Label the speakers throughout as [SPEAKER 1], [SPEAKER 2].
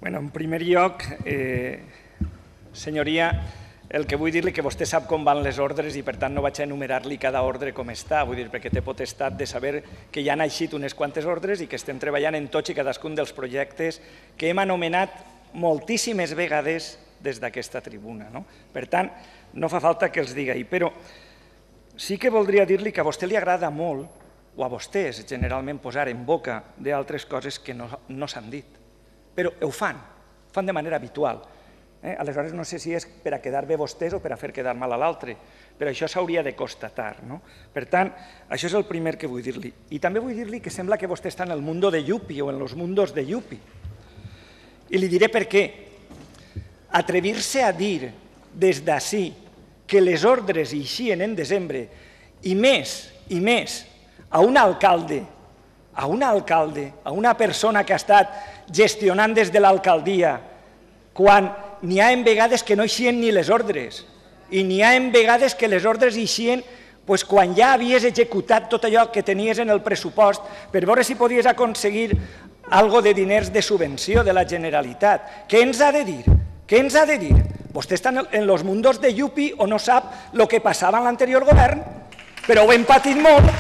[SPEAKER 1] Bueno, en primer lloc, senyoria, el que vull dir-li que vostè sap com van les ordres i per tant no vaig a enumerar-li cada ordre com està, vull dir, perquè té potestat de saber que ja han eixit unes quantes ordres i que estem treballant en tots i cadascun dels projectes que hem anomenat moltíssimes vegades des d'aquesta tribuna. Per tant, no fa falta que els digui, però sí que voldria dir-li que a vostè li agrada molt, o a vostès generalment posar en boca d'altres coses que no s'han dit, però ho fan de manera habitual. Aleshores no sé si és per a quedar bé vostès o per a fer quedar mal a l'altre, però això s'hauria de constatar. Per tant, això és el primer que vull dir-li. I també vull dir-li que sembla que vostè està en el mundo de Yupi o en los mundos de Yupi. I li diré per què. Atrevir-se a dir des d'ací que les ordres eixien en desembre i més a un alcalde, a una persona que ha estat gestionant des de l'alcaldia, quan n'hi ha en vegades que no eixien ni les ordres i n'hi ha en vegades que les ordres eixien quan ja havies executat tot allò que tenies en el pressupost per veure si podies aconseguir alguna de diners de subvenció de la Generalitat. Què ens ha de dir? Què ens ha de dir? Vostè està en los mundos de Yupi o no sap el que passava en l'anterior govern, però ho hem patit molt.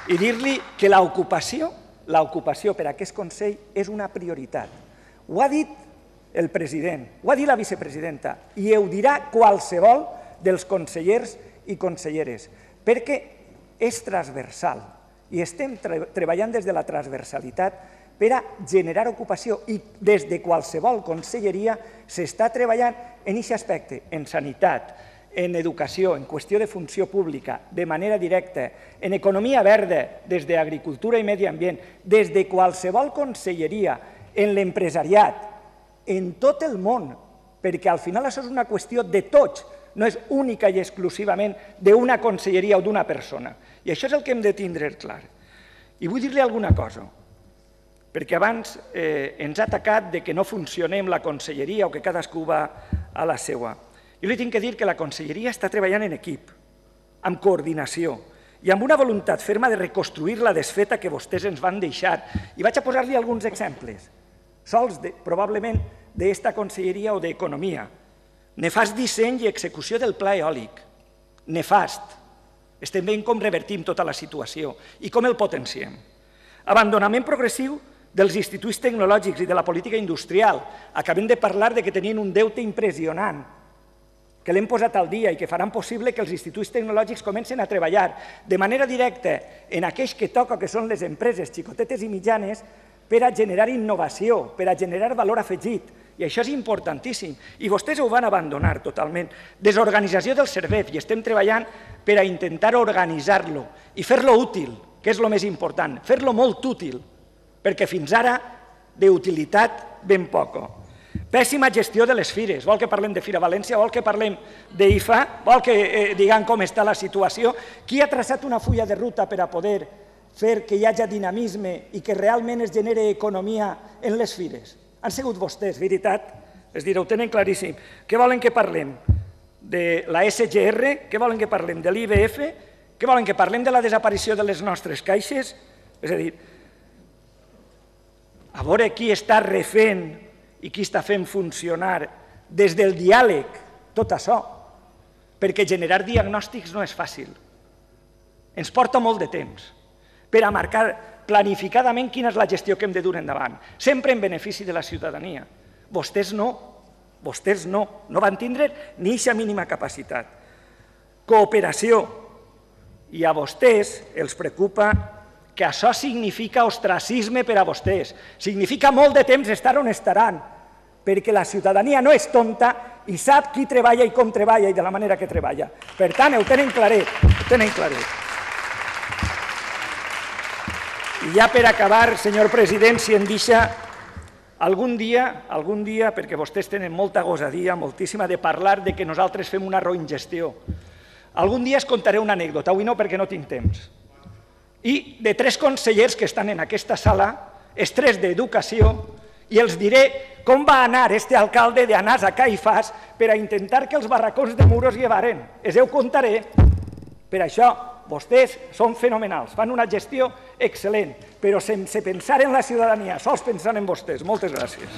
[SPEAKER 1] I dir-li que l'ocupació per a aquest Consell és una prioritat. Ho ha dit el president, ho ha dit la vicepresidenta i ho dirà qualsevol dels consellers i conselleres, perquè és transversal i estem treballant des de la transversalitat per a generar ocupació i des de qualsevol conselleria s'està treballant en aquest aspecte, en sanitat, en educació, en qüestió de funció pública, de manera directa, en economia verda, des d'agricultura i medi ambient, des de qualsevol conselleria, en l'empresariat, en tot el món, perquè al final això és una qüestió de tots, no és única i exclusivament d'una conselleria o d'una persona. I això és el que hem de tindre clar. I vull dir-li alguna cosa, perquè abans ens ha atacat que no funcionem la conselleria o que cadascú va a la seva. Jo li tinc que dir que la conselleria està treballant en equip, amb coordinació i amb una voluntat ferma de reconstruir la desfeta que vostès ens van deixar. I vaig a posar-li alguns exemples, sols probablement d'esta conselleria o d'Economia. Nefast disseny i execució del pla eòlic, nefast. Estem veient com revertim tota la situació i com el potenciem. Abandonament progressiu dels instituts tecnològics i de la política industrial. Acabem de parlar que tenien un deute impressionant, que l'hem posat al dia i que faran possible que els instituts tecnològics comencin a treballar de manera directa en aquells que toca, que són les empreses xicotetes i mitjanes, per a generar innovació, per a generar valor afegit. I això és importantíssim. I vostès ho van abandonar totalment. Desorganització del servei, i estem treballant per a intentar organitzar-lo i fer-lo útil, que és el més important, fer-lo molt útil, perquè fins ara d'utilitat ben poca. Pèssima gestió de les fires. Vol que parlem de Fira València? Vol que parlem d'IFA? Vol que diguem com està la situació? Qui ha traçat una fulla de ruta per a poder fer que hi hagi dinamisme i que realment es generi economia en les fires? Han sigut vostès, veritat? És dir, ho tenen claríssim. Què volen que parlem? De la SGR? Què volen que parlem? De l'IBF? Què volen que parlem de la desaparició de les nostres caixes? És a dir, a veure qui està refent i qui està fent funcionar des del diàleg tot això, perquè generar diagnòstics no és fàcil. Ens porta molt de temps per a marcar planificadament quina és la gestió que hem de dur endavant, sempre en benefici de la ciutadania. Vostès no van tindre ni aquesta mínima capacitat. Cooperació. I a vostès els preocupa que això significa ostracisme per a vostès. Significa molt de temps estar on estaran, perquè la ciutadania no és tonta i sap qui treballa i com treballa i de la manera que treballa. Per tant, ho tenen claret, I ja per acabar, senyor president, si em deixa, algun dia, perquè vostès tenen molta gosadia, moltíssima, de parlar que nosaltres fem una roïngestió. Algun dia es contaré una anècdota, avui no perquè no tinc temps. I de 3 consellers que estan en aquesta sala, els 3 d'Educació, i els diré com va anar este alcalde d'anar a Caifàs per a intentar que els barracons de Muros llevaren. Els ho contaré. Per això vostès són fenomenals, fan una gestió excel·lent, però sense pensar en la ciutadania, sols pensant en vostès. Moltes gràcies.